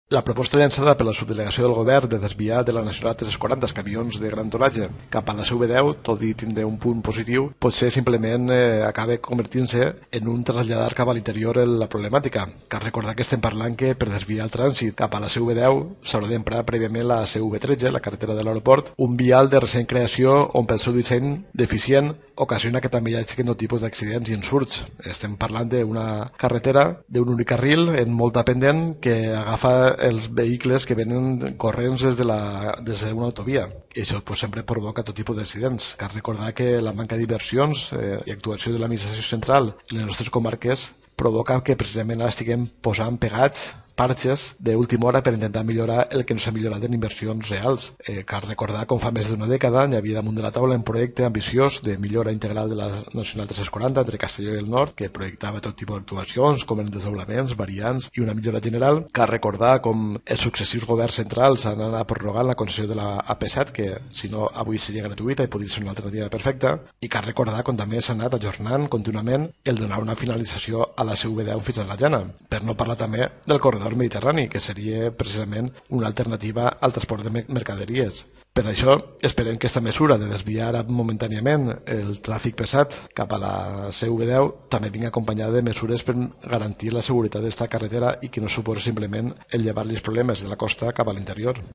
La proposta llançada per la subdelegació del govern de desviar de la Nacional 340 els camions de gran tonatge cap a la CV10, tot i tindre un punt positiu, potser simplement acaba convertint-se en un traslladar cap a l'interior la problemàtica. Cal recordar que estem parlant que per desviar el trànsit cap a la CV10 s'haurà d'emprar prèviament la CV13, la carretera de l'aeroport, un vial de recent creació on pel seu disseny deficient ocasiona que també hi hagi aquest tipus d'accidents i insurts. Estem parlant d'una carretera d'un únic carril en molta pendent que agafa els vehicles que venen corrents des d'una autovia. I això sempre provoca tot tipus d'accidents. Cal recordar que la manca d'inversions i actuació de l'administració central en les nostres comarques provoca que precisament ara estiguem posant pegats parxes d'última hora per intentar millorar el que no s'ha millorat en inversions reals. Cal recordar com fa més d'una dècada hi havia damunt de la taula un projecte ambiciós de millora integral de la Nacional 340 entre Castelló i el Nord, que projectava tot tipus d'actuacions, com els desdoblaments, variants i una millora general. Cal recordar com els successius governs centrals han anat prorrogant la concessió de la AP7, que si no avui seria gratuïta i podria ser una alternativa perfecta, i cal recordar com també s'ha anat ajornant contínuament el donar una finalització a la CV10 fins a la Llana, per no parlar també del corredor mediterrani, que seria precisament una alternativa al transport de mercaderies. Per això esperem que aquesta mesura de desviar momentàniament el tràfic pesat cap a la CV10 també vingui acompanyada de mesures per garantir la seguretat d'esta carretera i que no suposi simplement el llevar-li els problemes de la costa cap a l'interior.